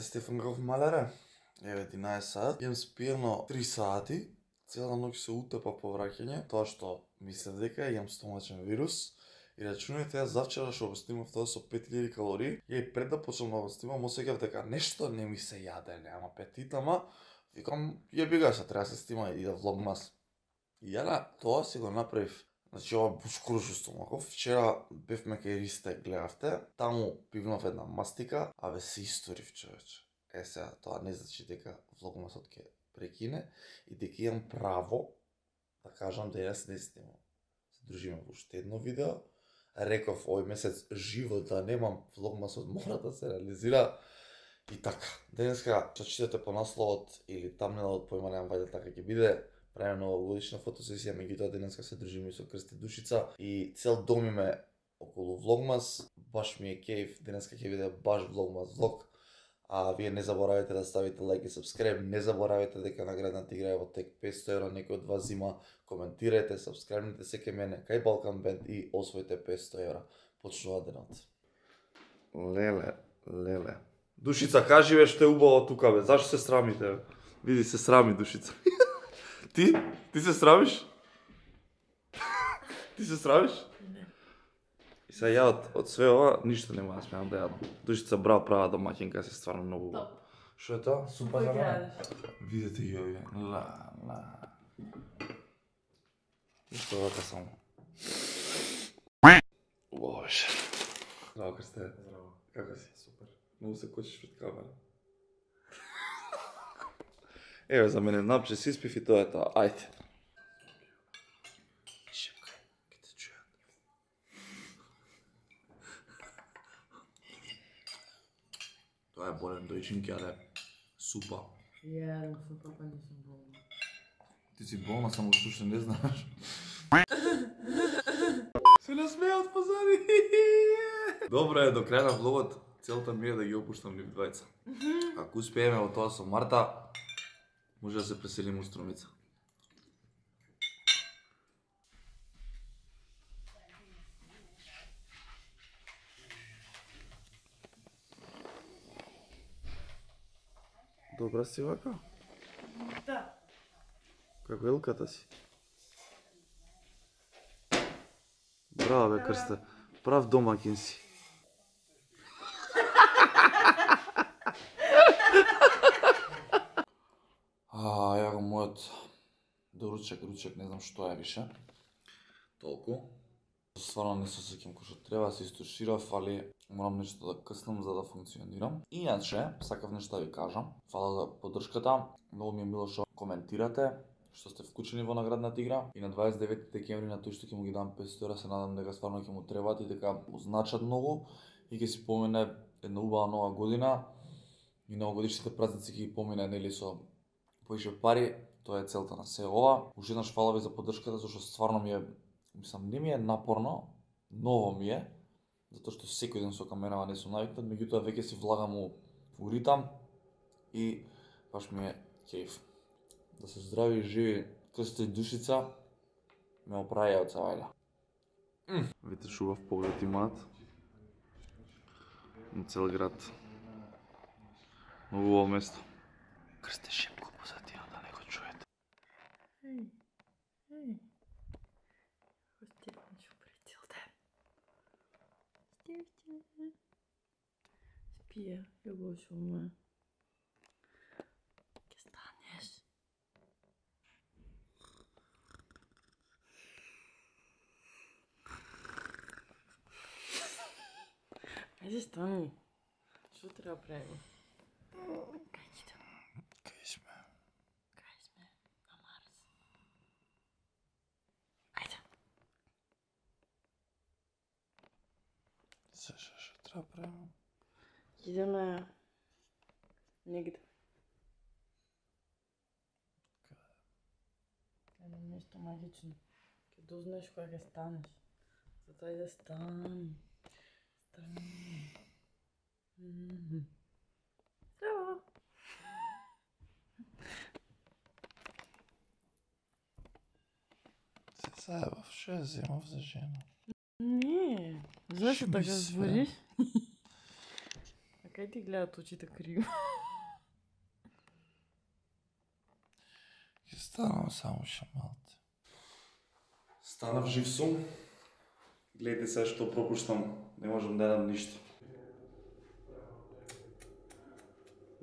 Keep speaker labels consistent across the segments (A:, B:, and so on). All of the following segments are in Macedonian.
A: Здравейте, Стефан Гров Малере. Еве 11 сат. Имам спиено 3 сати. Цела ноќ се утепа по враќање, тоа што мислев дека имам стомачен вирус. И рачунајте, јас завчера што го снимав тоа со 5000 калории, и пред да почнам да го снимам, осеќав дека нешто не ми се јаде, немам апетит, ама викам, јебига се, треба да се снима и да влогмас. И ја на тоа си го направив. Значи, ова бушкурушо стомаков. Вчера бевме кај Ристе, гледавте. Таму пивнав една мастика, а бе се историв, човече. Сега, тоа не значи дека влогмасот ќе прекине и дека имам право да кажам денес не снимам. Се дружиме во уште едно видео. Реков овој месец живо да немам, влогмасот мора да се реализира. И така, денеска што читате по насловот или тамнелот, појма немам вајде така ќе биде. Правиме новогодишна фотосесија, меѓутоа денеска се дружиме со Крсти Душица и цел дом име околу влогмас. Баш ми е кејф, денеска ќе биде баш влогмас влог. А вие не заборавајте да ставите лайк и сабскрайб, не заборавајте дека наградната игра е во тек 500 евра, некој од вас зима, коментирајте, сабскрайбнете се кај мене, кај Балкан Бенд и освоите 500 евра. Почнува денот. Леле. Душица, кажи бе што е убаво тука бе, зашто се срамите? Види, се срами Душица. Ти се срамиш? Ти се срамиш?
B: Не.
A: И сега ја од све ова, ништо нема да смеам да јадам. Душица браво, права домаќинка, се стварно многу убаво. Што е тоа? Супа храна? Видете ги овие. Ништо вака само. Убаво беше. Здраво, Крсте.
C: Здраво.
A: Како си?
C: Супер.
A: Многу се кочиш пред камера. Еве за мене напче си испив и тоа е тоа. Ајде. Шепкај, ке те чујат. Тоа е болен дојчинки, але супа.
B: Јадам супа, па не сум болна.
A: Ти си болна, само што уште не знаеш. Се насмеат позади. Добро е, до крај на влогот, целта ми е да ги опуштам нив двајца. Ако успееме во тоа со Марта, може да се преселиме у Струмица. Добра си вака?
B: Да.
A: Како елката си? Браво бе, Крсте. Прав домаќин си. Ја го мојот доручек, не знам што е више. Толку. Стварно не се сеќам кој што треба, се истуширав, али морам нешто да къснам за да функционирам. Иначе, сакав нешто да ви кажам. Фала за поддршката. Многу ми е мило што коментирате, што сте вклучени во наградната игра. И на 29 декември на тој што ќе му ги дам 500 евра, се надам дека стварно ќе му требат и дека му значат многу и ќе си помине една убава нова година и новогодишните празници ќе ги помине нели со поише пари. Тоа е целта на се ова. Уште еднаш фала ви за поддршката, зашто стварно ми е, мислам, не ми е напорно, ново ми е, затоа што секој ден со камерава не сум навикнат, меѓутоа веќе си влагам у ритам и баш ми е кејф. Да се здрави и живи Крсти Душица, ме оправи од Савајля. Видите шубав поглед имаат на цел град. Многу убаво место. Крсте шепко позадина да не го чуете.
B: Ей. Стефан ще опре цел ден. Стефче. Спия, ја го шума. Ке станеш. Ајде стани. Што треба правим? Кај ќе да?
A: Кај сме?
B: Кај сме? На Марс. Ајде.
A: Се што треба правим?
B: Идеме негде. Едно нешто магично. Ке дознаеш кога ќе станеш. Затоа да стани. Стани. Здраво.
A: Се заебав, што ја земав за жена?
B: Не. Зашто така збориш? А кај Кај ти гледат очите криво?
A: Ќе станам само шамалте. Станав жив сум. Гледайте се што пропуштам. Не можам да едам ништо.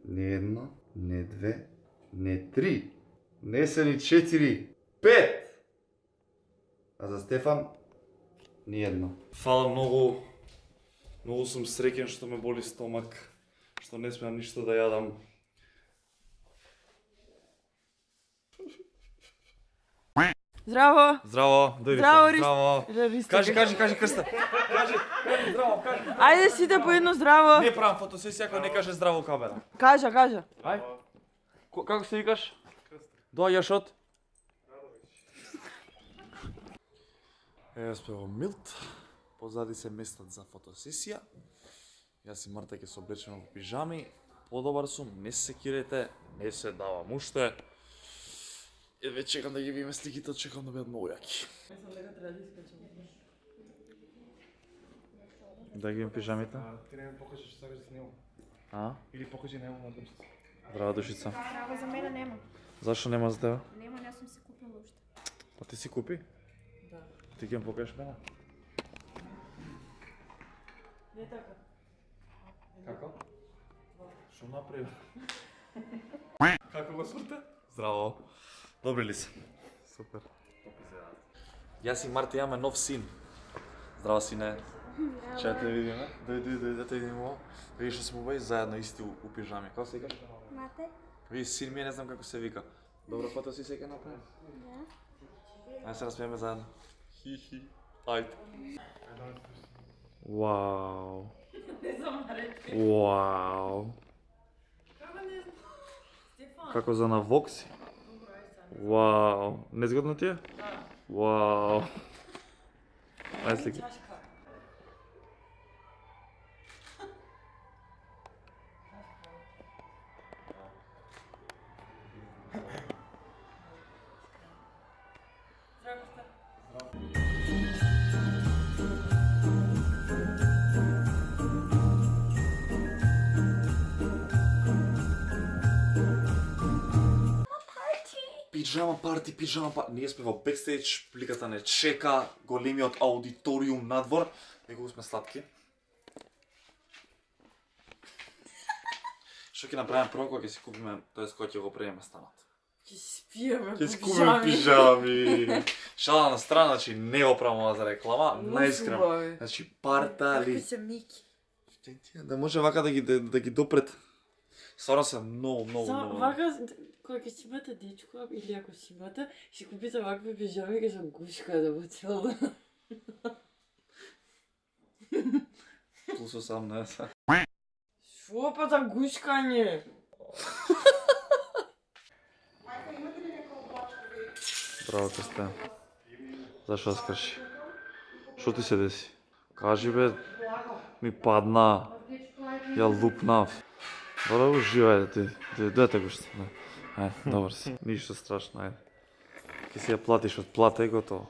A: Не едно, не две, не три, не се ни 4, 5! А за Стефан, ни едно. Фала многу. Многу сум среќен што ме боли стомак, што не смеам ништо да јадам.
B: Здраво!
A: Здраво, дојдете.
B: Здраво,
A: Здраво. Кажи Крста. Кажи, здраво, кажи.
B: Ајде сите по едно здраво.
A: Не правам фотосесија ако не каже здраво камера.
B: Кажа.
A: Ај. Како се викаш? Доаѓаш од? Јас пево Милт. Позади се местат за фотосесија. Јас и Марта ќе се облечеме во пижами. Подобар сум, не се секирете, не се давам уште. Едве чекам да ги видиме сликите, чекам да бидат многу јаки.
B: Мислам дека треба да искачам.
A: Да ги имам пижамите?
C: Ти не ми покажеш што сакаш да снимам.
A: А?
C: Или покажи него на душица.
A: Здраво, душица.
D: Здраво, за мене нема.
A: Зашо нема за тебе?
D: Нема, не сум си купила уште.
A: А ти си купи?
B: Да.
A: Ти ќе ми покажеш мене?
B: Не така.
A: Како? Што направи? Како го сврте? Здраво. Добри ли се? Супер. Јас и Марта имаме нов син. Здраво, сине. Чај те видиме. Дојди, да те видиме. Видиш што сме обај заедно исти у пижами. Како се викаш?
D: Мате?
A: Види, син ми не знам како се вика. Добро фото си сега направи?
D: Да.
A: Ајде се насмееме заедно. Хи. Ајде. Вау. Вау. Како за на Вокси? Вау. Незгодно ти е?
B: Да.
A: Вау. Ајде слики. Пижама парти. Ние сме во бекстејдж, публиката не чека, големиот аудиториум надвор. Неколку сме сладки. Што ќе направиме прво кога ќе си купиме, тоест кога ќе го приеме станот?
B: Ќе си спиеме
A: Ќе си купиме пижами. Шала на страна, значи не го правам за реклама, наискрено. Значи партали.
B: Како се Мики.
A: Да може вака да ги допрет. Стварно се многу.
B: Вака, кога ќе си имате дечко, или ако си имате, си купите вакви пижами, ќе се гушка да го цел да...
A: Плюс 18.
B: Шо па за гушкање?
A: Браво, Крстен. Зашо скрши? Шо ти се деси? Кажи бе, ми падна. Ја лупнав. Добро, уживај ти. Дете го што. Ајде, добар си. Ништо страшно, ајде. Ке си ја платиш од плата и готово.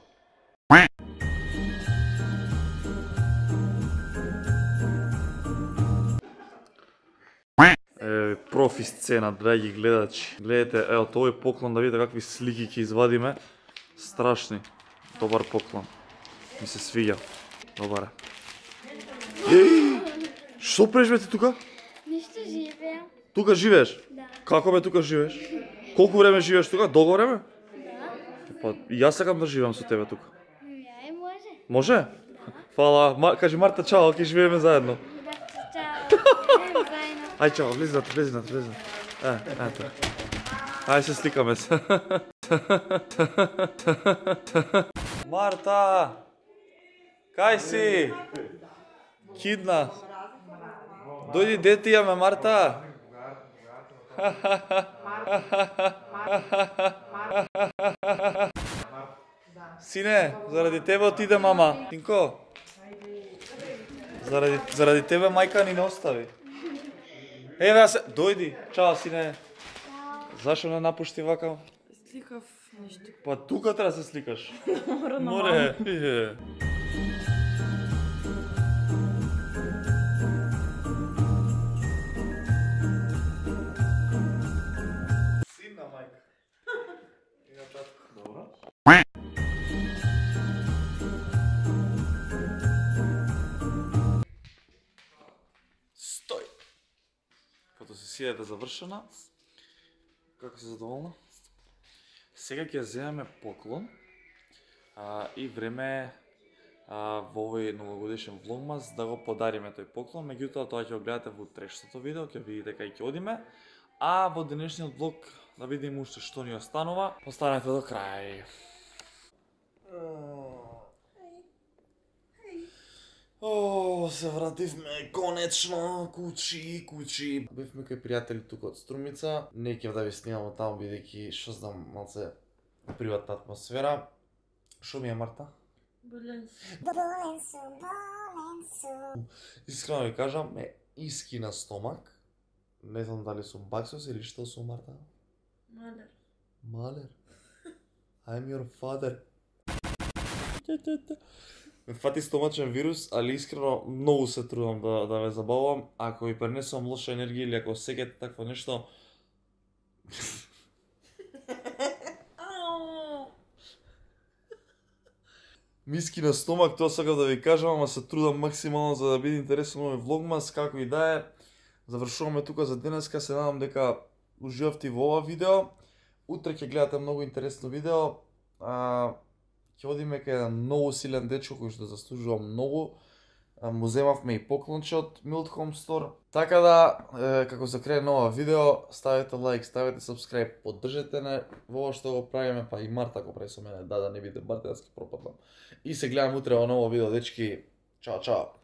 A: Профи сцена, драги гледачи. Гледате, ево, овој поклон да видите какви слики ќе извадиме. Страшни. Добар поклон. Ми се свиѓа. Добар е. Што преш бе ти тука?
D: Ништо живеам.
A: Тука живееш?
D: Да.
A: Како бе тука живееш? Колку време живееш тука? Долго време?
D: Да.
A: Па, и јас сакам да живеам со тебе тука.
D: Ја и може.
A: Може? Фала. Кажи Марта чао, ќе живееме заедно.
D: Да, чао. Заедно.
A: Ај чао, влези на. Ето. Ај се сликаме се. Марта! Кај си? Кидна. Дојди дете јаме, Марта. Сине, заради тебе отиде мама. Тинко. Заради тебе мајка ни не остави. Еве ја се, дојди. Чао, сине. Зашо не напушти вака?
B: Сликав нешто.
A: Па тука треба да се сликаш.
B: Мора на
A: Море. сесијата завршена. Како се задоволна? Сега ќе земеме поклон и време во овој новогодишен влогмас да го подариме тој поклон, меѓутоа тоа ќе го гледате во утрешното видео, ќе видите кај ќе одиме, а во денешниот влог да видиме уште што ни останува. Останете до крај. Се вративме конечно куќи. Бевме кај пријатели тука од Струмица. Не ќе да ви снимам таму бидејќи што знам малце приватна атмосфера. Шо ми е, Марта?
B: Болен сум.
A: Искрено ви кажам, ме иски на стомак. Не знам дали сум баксос или што сум, Марта?
B: Малер.
A: Малер. I'm your father. Ме фати стомачен вирус, али искрено многу се трудам да ве забавам. Ако ви пренесувам лоша енергија или ако осеќате такво нешто, миски на стомак, тоа сакав да ви кажам, ама се трудам максимално за да биде интересен овој влогмас, како и да е. Завршуваме тука за денеска, се надам дека уживавте во ова видео. Утре ќе гледате многу интересно видео. Ќе одиме кај еден многу силен дечко кој што заслужува многу. Му земавме и поклонче од Mild Home Store. Така да, како за крај на ова видео, ставете лайк, ставете subscribe, поддржете не во ова што го правиме, па и Марта го прави со мене, да не биде Марта, јас ќе пропаднам. И се гледам утре во ново видео, дечки. Чао, чао.